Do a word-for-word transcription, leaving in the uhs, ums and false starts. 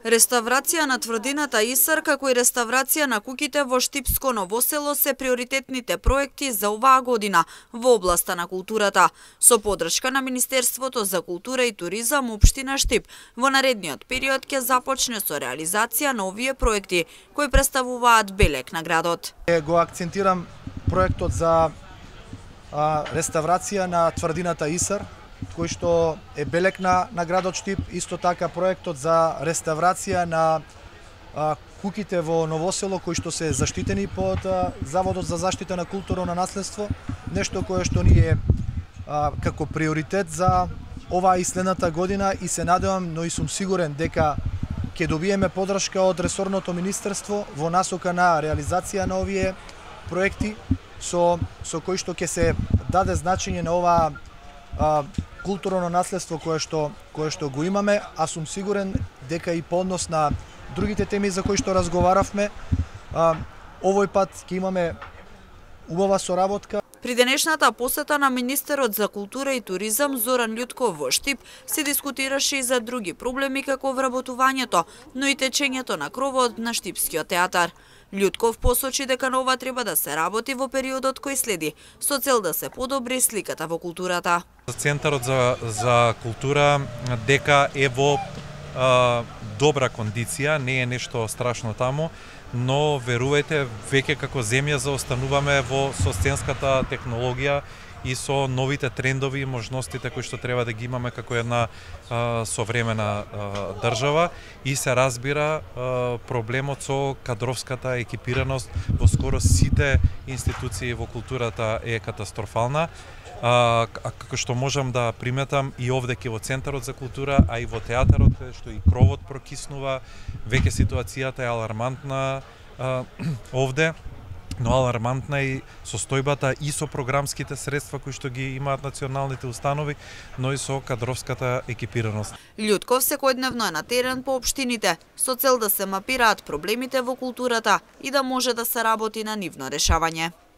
Реставрација на тврдината Исар, како и реставрација на куќите во Штипско Ново село се приоритетните проекти за оваа година во областа на културата, со поддршка на Министерството за култура и туризам општина Штип. Во наредниот период ќе започне со реализација на овие проекти, кои представуваат белег на градот. Го акцентирам проектот за а, реставрација на тврдината Исар, кој што е белег на, на градот Штип, исто така проектот за реставрација на а, куќите во Ново село, кои што се заштитени под а, Заводот за заштита на културно наследство, нешто кое што ни е а, како приоритет за оваа и следната година, и се надевам, но и сум сигурен дека ќе добиеме поддршка од ресорното министерство во насока на реализација на овие проекти, со, со кои што ќе се даде значење на оваа а, културно наследство кое што кое што го имаме, а сум сигурен дека и по однос на другите теми за кои што разговаравме, а, овој пат ќе имаме убава соработка. При денешната посета на министерот за култура и туризам Зоран Љутков во Штип се дискутираше и за други проблеми како вработувањето, но и течењето на кровот на Штипскиот театар. Љутков посочи дека на ова треба да се работи во периодот кој следи, со цел да се подобри сликата во културата. Центарот за, за култура дека е во а, добра кондиција, не е нешто страшно таму, но верувајте, веќе како земја заостануваме во со сценската технологија и со новите трендови и можностите кои што треба да ги имаме како една а, современа а, држава, и се разбира а, проблемот со кадровската екипираност во скоро сите институции во културата е катастрофална. А, а како што можам да приметам и овде ке во Центарот за култура, а и во театарот, што и кровот прокиснува, веќе ситуацијата е алармантна а, овде, но алармантна и состојбата и со програмските средства кои што ги имаат националните установи, но и со кадровската екипираност. Љутков секојдневно е на терен по општините, со цел да се мапираат проблемите во културата и да може да се работи на нивно решавање.